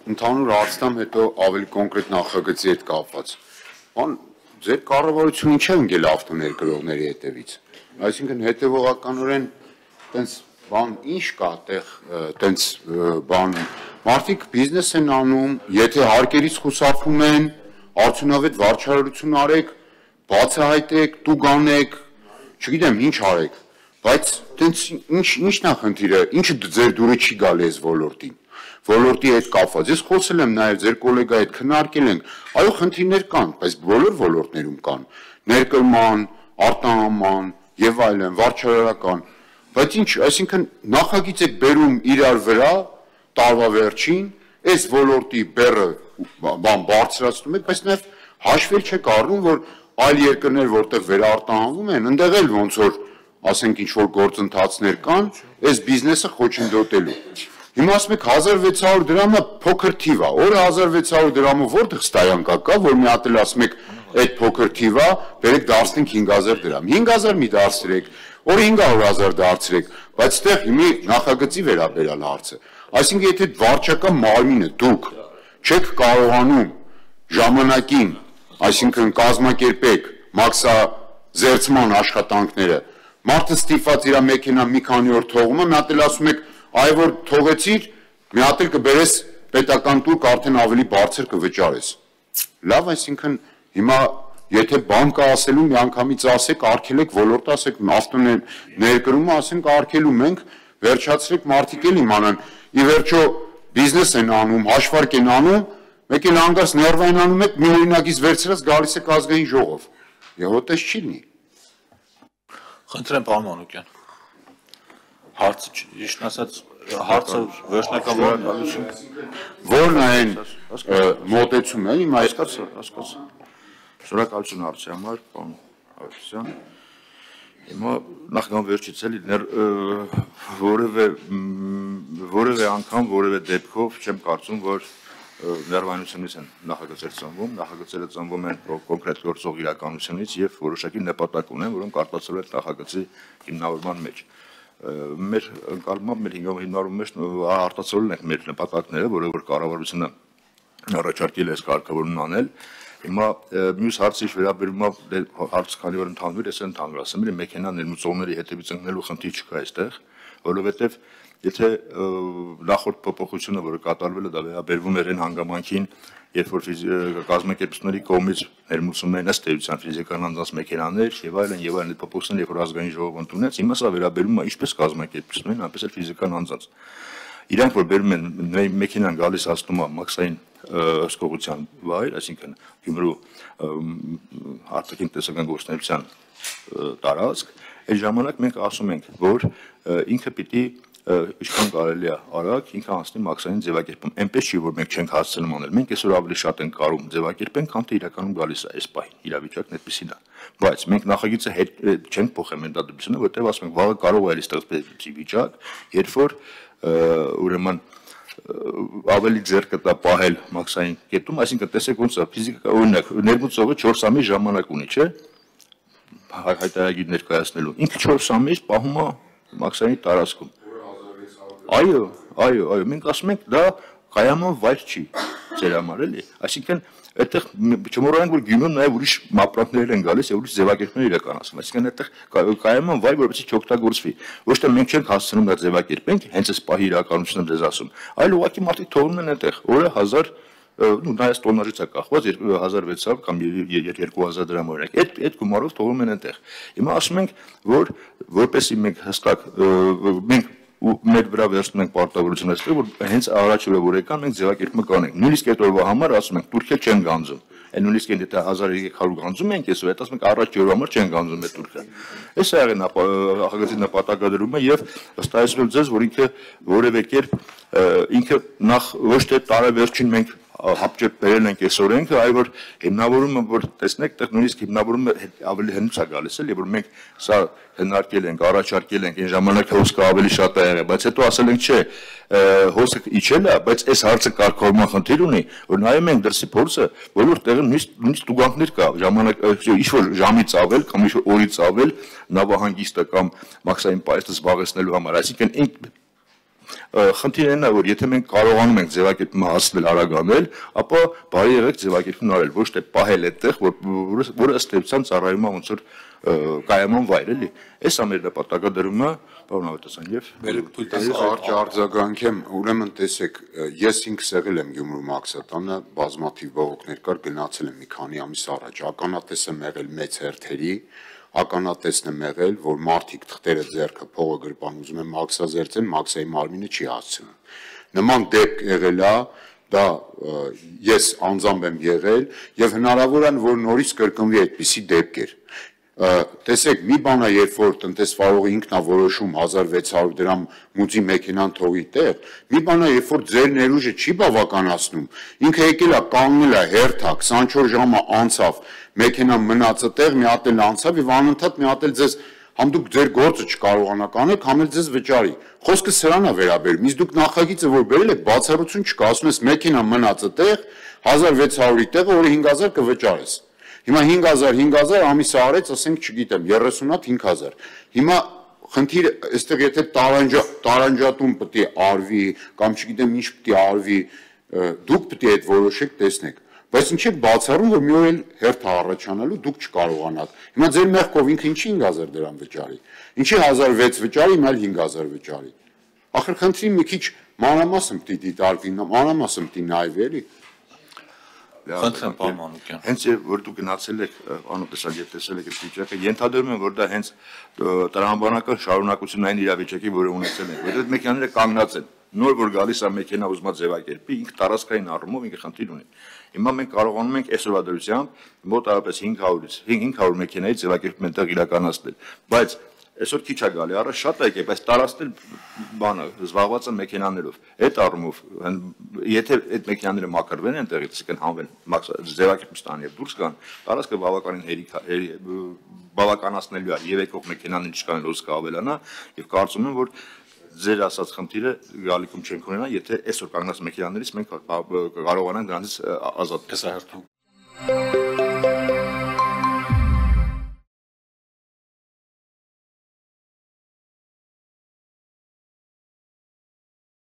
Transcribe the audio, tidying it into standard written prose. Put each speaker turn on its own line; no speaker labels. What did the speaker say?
ընդհանուր հարցնամ հետո ավելի կոնկրետ նախագծի հետ կապված։ Բան ձեր կառավարությունը ինչ է ընկել ավտոներկրողների հետևից։ Այսինքն հետևողականորեն տենց բան ինչ կա այդտեղ տենց բան մարդիկ բիզնես են անում, եթե հարկերից խուսափում են, արդյունավետ վարչարարություն արեք, բացահայտեք, տուգ անեք, չգիտեմ ինչ արեք, բայց տենց ինչն է խնդիրը, ինչը ձեր դուրը չի գալի այս ոլորտին։ Ոլորտի հետ կապված։ Ես խոսել եմ նաև ձեր գոլեգայի հետ քննարկել ենք, այո խնդիրներ կան, բայց բոլոր ոլորտներում կան, ներկրման, արտահանման եւ այլն, վարչարարական, բայց ինչ, այսինքն նախագիծ եք բերում իրար վրա, տարվա վերջին, այս ոլորտի բեռը բան բարձրացնում եք, բայց նաև հաշվել չեք առնում, որ այլ երկրներ, որտեղ վերարտահանվում են, ընդեղ էլ ոնց որ ասենք ինչ որ գործընթացներ կան, այս բիզնեսը խոչընդոտելու։ Հիմա ասում եք 1600 դրամը փոքր թիվ է, օրը 1600 դրամը որտեղ ստայանկա կա, որ մի հատ էլ ասում եք այդ փոքր թիվ է, բերեք դարձնենք 5000 դրամ։ 5000 մի դարձրեք, օրը 500,000 դարձրեք, բայց այդտեղ հիմի նախագծի վերաբերյալ հարցը։ Այսինքն եթե վարչական մարմինը դուք չեք կարողանում ժամանակին, այսինքն կազմակերպեք մաքսազերծման աշխատանքները, մարդը ստիպված իր մեքենա մի քանի օր թողում է, մի հատ էլ ասում եք այ որ թողեցիր, մի հատ էլ կբերես պետական տուր արդեն ավելի բարձր կվճարես։ Լավ, այսինքն հիմա եթե բան կա ասելու միանգամից ասեք, արգելեք ոլորտը, ասեք ավտոներկրումը, ասենք արգելում ենք, վերջացրեք մարդիկ էլ իմանան, ի վերջո բիզնես են անում, հաշվարկ են անում, մեկ էլ հանգարց ներվային անում եք, մի օրինակից վերցրած գալիս եք ազգային ժողով։ Եվ այդպես չի լինի։
Խնդրեմ պարոն Մանուկյան։ Հարցը ճիշտ ասած հարցը վերջնական
որն է այն մոտեցումը, իմ
հասկացա։ Շնորհակալություն հարցի համար, պարոն Ավետիսյան։ Հիմա նախքան վերջից էլի որևէ անգամ, որևէ դեպքով չեմ կարծում, որ ներվայնությունից են նախագծեր ծնվում, նախագծերը ծնվում են կոնկրետ գործող իրականությունից եւ որոշակի նպատակ ունեն, որոնք արտացոլվել են նախագծի հիմնավորման մեջ։ Մեր ընկալմամբ մեր հիմնավորման մեջ արտացոլել ենք մեր նպատակները, որը որ կառավարությունը առաջարկել է այս կարգավորումն անել։ Հիմա մյուս հարցի վերաբերում հարց քանի որ ընդհանուր է, ընդհանուր ասեմ, մեքենա ներմուծողների հետևից ընկնելու խնդիր չկա այստեղ, որովհետեւ եթե նախորդ փոփոխությունը, որը կատարվել է, դա վերաբերվում էր այն հանգամանքին, երբ որ կազմակերպությունների կողմից ներմուծում են ըստ էության ֆիզիկական անձանց մեքենաներ եւ այլն, այդ փոփոխությունները երբ որ ազգային ժողովը ընդունեց, հիմա սա վերաբերում է ինչպես կազմակերպություններին, այնպես էլ ֆիզիկական անձանց։ Իրանք որ բերում են մեքենան գալիս հասնում է մաքսային հսկողության վայր, այսինքն Գյումրու արտաքին տեսական գործունեության տարածք, այդ ժամանակ մենք ասում ենք, որ ինքը պիտի ինչքան կարելի է արագ ինքը անցնի մաքսային ձևակերպում։ Այնպես չի, որ մենք չենք հասցնում անել։ Մենք այսօր ավելի շատ ենք կարող ձևակերպենք, քան թե իրականում գալիս է այս պահին։ Իրավիճակն այդպեսին է։ Բայց մենք նախագիծը հետ չենք փոխել մենտալիտետությունը, որտեղ ասում ենք, վաղը կարող է ստեղծվել վիճակ, երբ որ ուրեմն ավելի ձեռք կտա պահել մաքսային կետում, այսինքն տեսեք ոնց է ֆիզիկա օրինակ ներմուծողը 4 ամիս ժամանակ ունի, չէ՞։ Հայտարարագիր ներկայացնելու։ Ինքը 4 ամիս պահում է մաքսային տարածքում։ Այո, մենք ասում ենք դա կայաման վայր չի ձեր համար էլի, այսինքն այդտեղ չմոռանանք որ Գյումրում նաև ուրիշ մապրանքներ են գալիս եւ ուրիշ ձևակերպումներ իրականացվում, այսինքն այդտեղ կայաման վայր որպեսզի չօգտագործվի, ոչ թե մենք չենք հասցնում դա ձևակերպենք, հենց այս պահի իրականությունը դες ասում, այլ ուղղակի մարդիկ թողնում են այդտեղ, օրը 1000 նայած տոննաժից է կախված 2600 կամ 2000 դրամ օրինակ, այդ գումարով թողնում են այդտեղ։ Հիմա ասում ենք, որ որպեսզի մենք հստակ մենք ու մեր վրա վերցնում ենք պարտավորությունը, որ հենց առաջ օրը որ եկան մենք ձևակերպումը կանենք։ Նույնիսկ այդ օրվա համար ասում ենք турքը չեն գանձում։ Այն նույնիսկ եթե 1300 գանձում ենք այսօր, այդ ասում ենք առաջ օրվա համար չեն գանձում այդ турքը։ Այս է եղել նախագծի նպատակադրումը եւ վստահեցնում եմ ձեզ, որ ինքը որևէ կերպ ինքը նախ ոչ թե տարեվերջին մենք հապճեպ բերել ենք այս օրենքը, այլ որ հիմնավորումը որ տեսնեք, այդտեղ նույնիսկ հիմնավորումը ավելի հնուց է գալիս էլ, եւ որ մենք սա հնարքել ենք, առաջարկել ենք, այն ժամանակ հոսքը ավելի շատ է եղել, բայց հետո ասել ենք, չէ, հոսքը իջել է, բայց այս հարցը կարգավորման խնդիր ունի, որ նայում ենք դրսի փորձը, բոլոր տեղում նույնիսկ տուգանքներ կա, ժամանակ ինչ որ ժամից ավել կամ ինչ որ օրից ավել նավահանգիստը կամ մաքսային պայթը զբաղեցնելու համար, այսինքն խնդիրն է, որ եթե մենք կարողանում ենք ձևակերպումը հասնել արագանել, ապա բարի եղեք ձևակերպումն արել, ոչ թե պահել այդտեղ, որը ըստ էության ծառայում է ոնց որ կայաման վայր էլի։ Այս է մեր նպատակադրումը, պարոն Ավետիսյան, եւ
Կարճ արձագանքեմ, ուրեմն տեսեք, ես ինքս եղել եմ Գյումրու Մաքսատանը, բազմաթիվ բողոքներ կար, գնացել եմ մի քանի ամիս առաջ, ականատես եմ եղել մեծ հերթերի, ականատեսն եմ եղել, որ մարդիկ թղթերը ձեռքը փողը գրպան ուզում են մաքսազերծեն, մաքսայի մարմինը չի հասցնում։ Նման դեպք եղել է, դա ես անձամբ եմ եղել եւ հնարավոր է որ նորից կրկնվի այդպիսի դեպքեր։ Տեսեք, մի բան է, երբ որ տնտեսվարողը ինքն է որոշում 1600 դրամ մուծի մեքենան թողի տեղ, մի բան է, երբ որ ձեր ներուժը չի բավականացնում, ինքը եկել է կանգնել է հերթա 24 ժամը անցավ, մեքենան մնացը տեղ, մի հատ էլ անցավ եւ անընդհատ մի հատ էլ ձեզ համ դուք ձեր գործը չկարողանաք անել, համ էլ ձեզ վճարի։ Խոսքը սրան է վերաբերում, իսկ դուք նախագիծը որ բերել եք, բացառություն չկա, ասում ես մեքենան մնացը տեղ, 1600-ի տեղը, որը 5000 կվճարես։ Հիմա 5000 ամիսը արեց, ասենք, չգիտեմ, 30 հատ 5000։ Հիմա խնդիրը, այստեղ եթե տարանջատում պետք է արվի, կամ չգիտեմ ինչ պետք է արվի, դուք պետք է այդ որոշեք, տեսնեք։ Բայց ինչ եք բացառում, որ մի օր էլ հերթ առաջանալու դուք չկարողանաք։ Հիմա ձեր մեղքով ինքը ինչի 5000 դրամ վճարի։ Ինչի 1600 վճարի, հիմա 5000 վճարի։ Ախր խնդրի մի քիչ մանրամասն պետք է դիտարկվի, մանրամասն պետք է նայվի, էլի։
Խնդրեմ, պարոն Մանուկյան։
Հենց որ դուք գնացել եք, անօտեսալ եւ տեսել եք այդ վիճակը, ենթադրում եմ, որ դա հենց տրամաբանական շարունակությունային իրավիճակի, որը ունեցել եք, որովհետեւ մեքենաները կանգնած են։ Նոր որ գալիս է մեքենա ուզմա ձևակերպի, ինքը տարածքային առումով ինքը խնդիր ունի։ Հիմա մենք կարողանում ենք այսօրվա դրությամբ մոտավորապես 500 մեքենայի ձևակերպում այնտեղ իրականացնել, բայց այսօր քիչ է գալի, առը շատ է եկել, բայց տարածել բանը զբաղված են մեքենաներով։ Այդ առումով, եթե այդ մեքենաները մաքրվեն այնտեղից, կան հանվեն, ձևակերպում ստան եւ դուրս գան, տարածքը բավականին բավականացնելու է եւ եկող մեքենաներին չկան լոս կավելանա եւ կարծում եմ, որ ձեր ասած խնդիրը գալիքում չենք ունենա, եթե այսօր կանգնած մեքենաներից մենք կարողանանք դրանից ազատվել։